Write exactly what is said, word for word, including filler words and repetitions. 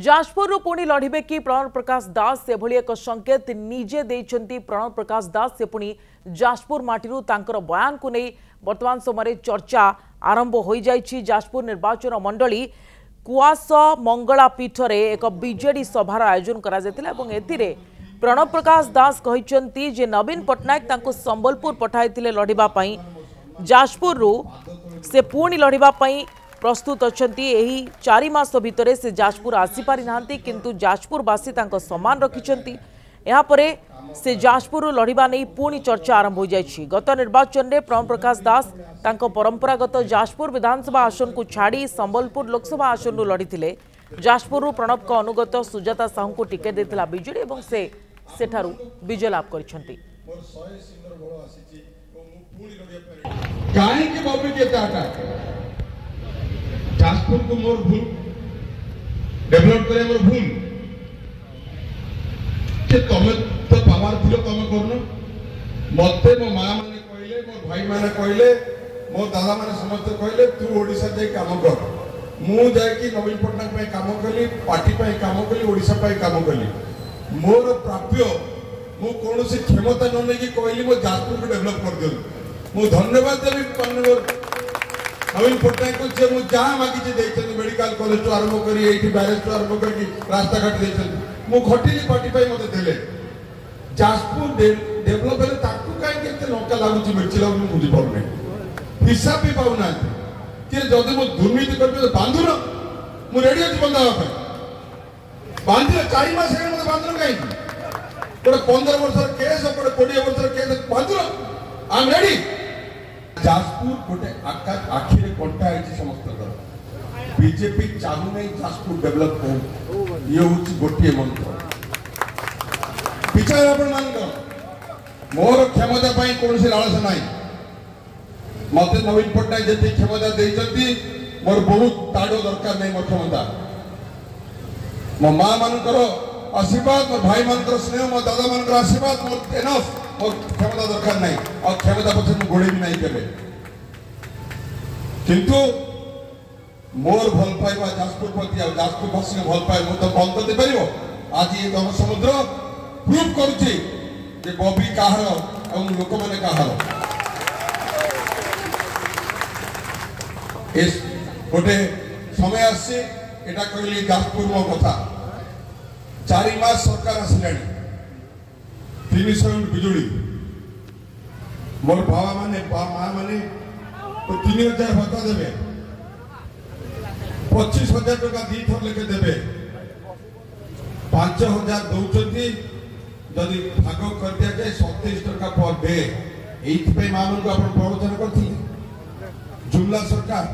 ଯାଜପୁରରୁ ପୁଣି ଲଢ଼ିବେ କି ପ୍ରଣବ ପ୍ରକାଶ ଦାସ, ସେଭଳି ଏକ ସଂକେତ ନିଜେ ଦେଇଛନ୍ତି ପ୍ରଣବ ପ୍ରକାଶ ଦାସ। ସେ ପୁଣି ଯାଜପୁର ମାଟିରୁ ତାଙ୍କର ବୟାନକୁ ନେଇ ବର୍ତ୍ତମାନ ସମୟରେ ଚର୍ଚ୍ଚା ଆରମ୍ଭ ହୋଇଯାଇଛି। ଯାଜପୁର ନିର୍ବାଚନ ମଣ୍ଡଳୀ କୁଆସ ମଙ୍ଗଳା ପୀଠରେ ଏକ ବିଜେଡି ସଭାର ଆୟୋଜନ କରାଯାଇଥିଲା ଏବଂ ଏଥିରେ ପ୍ରଣବ ପ୍ରକାଶ ଦାସ କହିଛନ୍ତି ଯେ ନବୀନ ପଟ୍ଟନାୟକ ତାଙ୍କୁ ସମ୍ବଲପୁର ପଠାଇଥିଲେ ଲଢ଼ିବା ପାଇଁ, ଯାଜପୁରରୁ ସେ ପୁଣି ଲଢ଼ିବା ପାଇଁ ପ୍ରସ୍ତୁତ ଅଛନ୍ତି। ଏହି ଚାରି ମାସ ଭିତରେ ସେ ଯାଜପୁର ଆସିପାରିନାହାନ୍ତି, କିନ୍ତୁ ଯାଜପୁରବାସୀ ତାଙ୍କ ସମ୍ମାନ ରଖିଛନ୍ତି। ଏହାପରେ ସେ ଯାଜପୁରରୁ ଲଢ଼ିବା ନେଇ ପୁଣି ଚର୍ଚ୍ଚା ଆରମ୍ଭ ହୋଇଯାଇଛି। ଗତ ନିର୍ବାଚନରେ ପ୍ରଣବ ପ୍ରକାଶ ଦାସ ତାଙ୍କ ପରମ୍ପରାଗତ ଯାଜପୁର ବିଧାନସଭା ଆସନକୁ ଛାଡ଼ି ସମ୍ବଲପୁର ଲୋକସଭା ଆସନରୁ ଲଢ଼ିଥିଲେ। ଯାଜପୁରରୁ ପ୍ରଣବଙ୍କ ଅନୁଗତ ସୁଜାତା ସାହୁଙ୍କୁ ଟିକେଟ୍ ଦେଇଥିଲା ବିଜେଡି ଏବଂ ସେ ସେଠାରୁ ବିଜୟ ଲାଭ କରିଛନ୍ତି। କାହିଁକି ବବି ଏତେ ଯାଜପୁରକୁ ମୋର ଭୁଲ ଡେଭଲପ କରିବା ମୋର ଭୁଲ ଯେ ତମେ ତ ପାୱାର ଥିଲ, ତମେ କରୁନ। ମତେ ମୋ ମା ମାନେ କହିଲେ, ମୋ ଭାଇ ମାନେ କହିଲେ, ମୋ ଦାଦା ମାନେ ସମସ୍ତେ କହିଲେ ତୁ ଓଡ଼ିଶା ଯାଇ କାମ କର। ମୁଁ ଯାଇକି ନବୀନ ପଟ୍ଟନାୟକ ପାଇଁ କାମ କଲି, ପାର୍ଟି ପାଇଁ କାମ କଲି, ଓଡ଼ିଶା ପାଇଁ କାମ କଲି। ମୋର ପ୍ରାପ୍ୟ ମୁଁ କୌଣସି କ୍ଷମତା ନ ନେଇକି କହିଲି ମୋ ଯାଜପୁରକୁ ଡେଭଲପ କରିଦିଅନ୍ତୁ। ମୁଁ ଧନ୍ୟବାଦ ଦେବି ମାନ୍ୟବର ନବୀନ ପଟ୍ଟନାୟକକୁ ଯେ ମୁଁ ଯାହା ମାଗିଛି ଦେଇଛନ୍ତି। ମେଡିକାଲ କଲେଜଠୁ ଆରମ୍ଭ କରି ଏଇଠି ବ୍ୟାରେଜଠୁ ଆରମ୍ଭ କରିକି ରାସ୍ତାଘାଟ ଦେଇଛନ୍ତି। ମୁଁ ଖଟିଲି ପାର୍ଟି ପାଇଁ, ମତେ ଦେଲେ। ଯାଜପୁର ଡେଭଲପ ହେଲେ ତାକୁ କାହିଁକି ଏତେ ଲଙ୍କା ଲାଗୁଛି, ମିର୍ଚି ଲାଗୁଛି, ମୁଁ ବୁଝିପାରୁନି। ହିସାବ ବି ପାଉନାହାନ୍ତି କି ଯଦି ମୁଁ ଦୁର୍ନୀତି କରିବି ବାନ୍ଧୁନ, ମୁଁ ରେଡି ଅଛି ବନ୍ଧା ହେବା ପାଇଁ। ବାନ୍ଧିଲେ ଚାରି ମାସ ହେଲାଣି ମତେ ବାନ୍ଧୁନ କାହିଁକି? ଗୋଟେ ପନ୍ଦର ବର୍ଷର କେସ୍, ଗୋଟେ କୋଡ଼ିଏ ବର୍ଷର case, ବାନ୍ଧୁନ, I M ready. Jajpur ଗୋଟେ ଆଖିରେ କଣ୍ଟା ହେଇଛି ସମସ୍ତଙ୍କର। ବିଜେପି ଚାହୁଁନାହିଁ ଯାଜପୁର ଡେଭଲପ ହଉ, ଇଏ ହଉଛି ଗୋଟିଏ ମନ୍ତ୍ର। ବିଚାର ଆପଣମାନଙ୍କର। ମୋର କ୍ଷମତା ପାଇଁ କୌଣସି ଲାଳସା ନାହିଁ। ମତେ ନବୀନ ପଟ୍ଟନାୟକ ଯେତିକି କ୍ଷମତା ଦେଇଛନ୍ତି ମୋର ବହୁତ ତାଡ଼ ଦରକାର ନାହିଁ। ମୋ କ୍ଷମତା ମୋ ମା ମାନଙ୍କର ଆଶୀର୍ବାଦ, ମୋ ଭାଇ ମାନଙ୍କର ସ୍ନେହ, ମୋ ଦାଦା ମାନଙ୍କର ଆଶୀର୍ବାଦ ମୋର ଏନଫ୍। ମୋ କ୍ଷମତା ଦରକାର ନାହିଁ, ଆଉ କ୍ଷମତା ପଛରେ ମୁଁ ଗୋଡ଼େଇବି ନାହିଁ କେବେ। କିନ୍ତୁ ମୋର ଭଲ ପାଇବା ଯାଜପୁର ପ୍ରତି ଆଉ ଯାଜପୁରବାସୀଙ୍କ ଭଲ ପାଇବା ମୁଁ ତ ବନ୍ଦ କରିଦେଇପାରିବ? ଆଜି ଏ ଜନସମୁଦ୍ର ପ୍ରୁଭ୍ କରୁଛି ଯେ ବବି କାହାର ଏବଂ ଲୋକମାନେ କାହାର। ଏ ଗୋଟେ ସମୟ ଆସିଛି, ଏଟା କହିଲି ଯାଜପୁର ମୋ କଥା। ଚାରି ମାସ ସରକାର ଆସିଲାଣି, ତିନିଶହ ୟୁନିଟ୍ ବିଜୁଳି ମୋର ବାବା ମାନେ ମା ମାନେ ତିନି ହଜାର ଭତ୍ତା ଦେବେ, ପଚିଶ ହଜାର ଟଙ୍କା ଦୁଇଥର ଲେଖେ ଦେବେ, ପାଞ୍ଚ ହଜାର ଦଉଛନ୍ତି। ଯଦି ଭାଗ କରିଦିଆଯାଏ ସତେଇଶ ଟଙ୍କା ପର ଡେ। ଏଇଥିପାଇଁ ମା ମାନଙ୍କୁ ଆପଣ ପ୍ରବଚନ କରିଥିଲେ ଜୁମଲା ସରକାର।